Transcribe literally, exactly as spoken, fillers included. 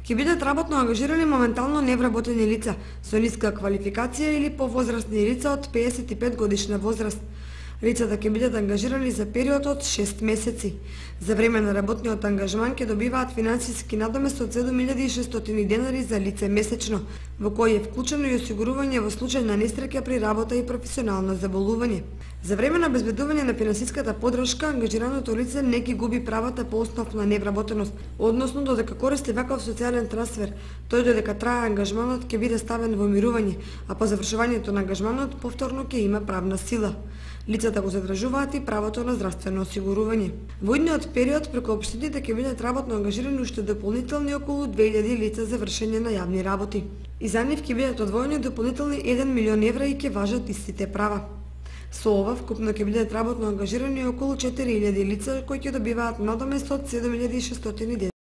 Ќе бидат работно ангажирани моментално невработени лица со ниска квалификација или повозрастни лица од пеесет и пет годишна возраст. Лицата ќе бидат ангажирани за период од шест месеци. За време на работниот ангажман ќе добиваат финансиски надомест од седум илјади и шестстотини денари за лице месечно, во кој е вклучено и осигурување во случај на несреќа при работа и професионално заболување. За време на обезбедување на финансиската поддршка, ангажираното лице не ги губи правата по основ на невработеност, односно додека користи ваков социјален трансфер, тој додека трае ангажманот ќе биде ставен во мирување, а по завршувањето на ангажманот повторно ќе има правна сила. Лицата го задржуваат и правото на здравствено осигурување. Во идниот период преку општините ќе бидат работно ангажирани уште дополнителни околу две илјади лица за вршење на јавни работи. И за нив ќе бидат одвоени дополнителни еден милион евра и ќе важат истите права. Со ова вкупно ќе бидат работно ангажирани околу четири илјади лица кои ќе добиваат надомест од седум илјади и шестстотини